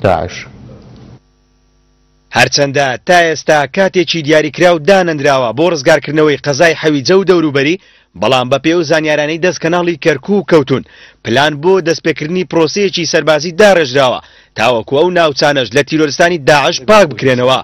داعش. هەرچەندە تا ئێستا کاتێکی دیاریکراو دانەنراوە بۆ ڕزگارکردنەوەی قەزای حەویجە و دەوروبەری، بەڵام بەپێی ئەو زانیارانەی دەست کەناڵی کەرکوک کەوتوون، پلان بۆ دەستپێکردنی پرۆسەیەکی سەربازی داڕێژراوە تاوەکو ئەو ناوچانەش لە تیرۆرستانی داعش پاک بکرێنەوە.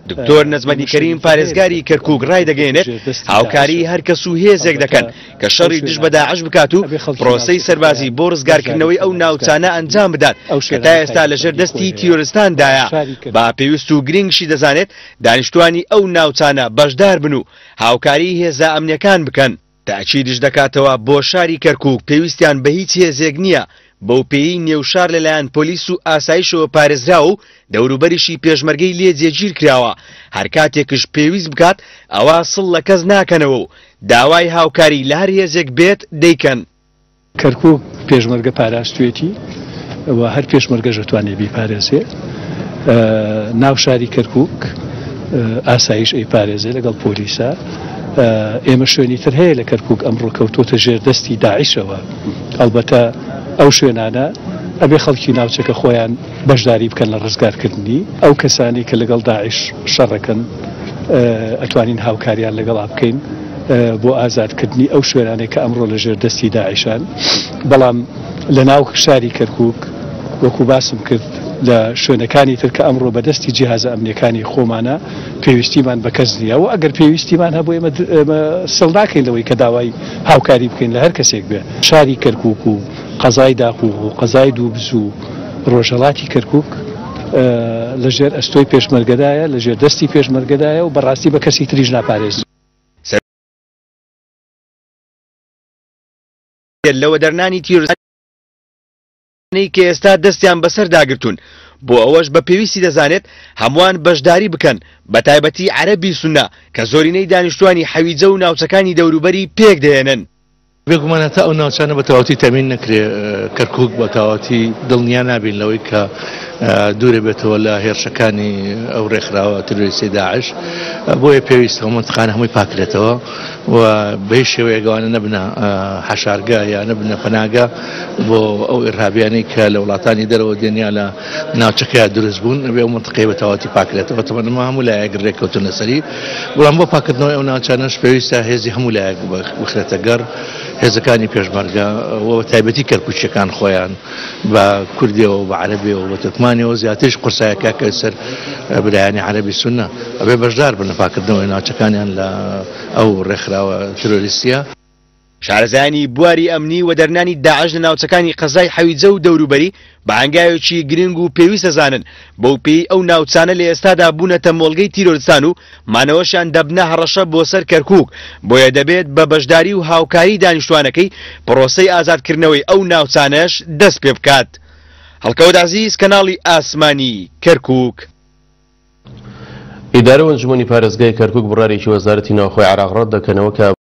دکتۆر نەجمەدین کەریم پارێزگاری کەرکوک ڕایدەگەیەنێت، هاوکاریی هەر کەس و هێزێک دەکەن کە شەڕی دژ بە داعش بکات و پرۆسەی سەربازی بۆ ڕزگارکردنەوەی ئەو ناوچانە ئەنجام بدات کە تا ئێستا لەژێر دەستی تیرۆرستاندایە، بە پێویست و گرنگشی دەزانێت دانیشتوانی ئەو ناوچانە بەشدار بن و هاوکاریی هێزە ئەمنییەکان بکەن. تەئکیدیش دەکاتەوە بۆ شاری کەرکوک پێویستیان بە هیچ هێزێک نییە، بەوپێیەی نێوشار لەلایەن پۆلیس و ئاسایشەوە پارێزراوە و دەوروبەریشی پێشمەرگەی لێ جێگیرکراوە، هەرکاتێکش پێویست بکات ئەوا سڵ لە کەس ناکەنەوە و داوای هاوکاری لە هەر هێزێک بێت دەیکەن. کەرکوک پێشمەرگە پاراستوێتی و هەر پێشمەرگەش ئەتوانێ بیپارێزێ. ناو شاری کەرکوک ئاسایش ئەیپارێزێ لەگەڵ پۆلیسا. ئێمە شوێنی تر هەیە لە کەرکوک ئەمڕۆ کەوتۆتە ژێر دەستی داعشەوە. ئەڵبەتە ئەو شوێنانە ئەبێ خەڵکی ناوچەکە خۆیان بەشداری بکەن لە ڕزگارکردنی. ئەو کەسانەی کە لەگەڵ داعش شەڕەکەن ئەتوانین هاوکاریان لەگەڵا بکەین بۆ ئازادکردنی ئەو شوێنانەی کە ئەمڕۆ لە ژێر دەستی داعشان. بەڵام لە ناو شاری کەرکوک وەکو باسم کرد لە شوێنەکانی تر کە ئەمڕۆ بە دەستی جیهازە ئەمنیەکانی خۆمانە پێویستیمان بە کەس نییە و ئەگەر پێویستیمان هەبوو ئێمە سڵ ناکەین لەوەی کە داوای هاوکاری بکەین لە هەر کەسێک بێ. شاری کەرکوک و قەزای داقوق و قەزای دووبز و ڕۆژهەڵاتی کەرکوک لە ژێر ئەستۆی پێشمەرگەدایە، لە ژێر دەستی پێشمەرگەدایە و بەڕاستی بە کەسی تریش ناپارێزرێ. لە وەدەرنانی تیرۆرستانی کە ئێستا دەستیان بەسەردا گرتوون، بۆ ئەوەش بە پێویستی دەزانێت هەمووان بەشداری بکەن، بەتایبەتی عەرەبی سوننە کە زۆرینەی دانیشتووانی حەویجە و ناوچەکانی دەوروبەری پێکدەهێنن. بێگومان هەتا ئەو ناوچانە بە تەواوەتی تەمین نەکرێ کەرکوک بە تەواوەتی دڵنیا نابین لەوەی کە دوورە بێتەوە لە هێرشەکانی ئەو ڕێکخراوە تیرۆریستی داعش بۆیە پێویستە ئەو مەنتقانە هەمووی پاکرێتەوە و بە هیچ شێوەیەک ئەوانە نەبنە حەشارگە یا نەبنە پەناگە بۆ ئەو ئیرهابیانەی کە لە وڵاتانی دەرەوە دێن یا لە ناوچەکەیا دروست بوون ئەبێ ئەو مەنتقەیە بە تەواوەتی پاکرێتەوە تەبعەن ئەمە هەموو لایەک رێککەوتن لەسەری بەڵام بۆ پاکردنەوەی ئەو ناوچانەش پێویستە هێزی هەموو لایەک بخرێتە گەڕ هێزەکانی پێشمەرگە و بە تایبەتی کەرکوکییەکان خۆیان بە کوردیەوە بە عەرەبیەوە بە تورکمانیەوە زیاتریش قورسایەکە کە سەر برایانی عەرەبی سوننە ئەبێ بەشدار بن لە پاکردنەوەی ناوچەکانیان لە ئەو ڕێکخراوە تیرۆریستیە. شارەزایانی بواری ئەمنی وەدەرنانی داعش لە ناوچەکانی قەزای حەویجە و دەوروبەری بە هەنگاوێکی گرنگ و پێویست دەزانن، بەو پێیەی ئەو ناوچانە لە ئێستادا بوونەتە مۆڵگەی تیرۆرستان و مانەوەشیان دەبنە هەڕەشە بۆ سەر کەرکوک، بۆیە دەبێت بە بەشداری و هاوکاری دانیشتوانەکەی پڕۆسەی ئازادکردنەوەی ئەو ناوچانەش دەست پێبکات. هەڵکەوت عەزیز، کەناڵی ئاسمانی کەرکوک. ئیدارە و ئەنجومەنی پارێزگای کەرکوک بڕیارێکی وەزارەتی ناوخۆی عێراق ڕەتدەکەنەوە کە.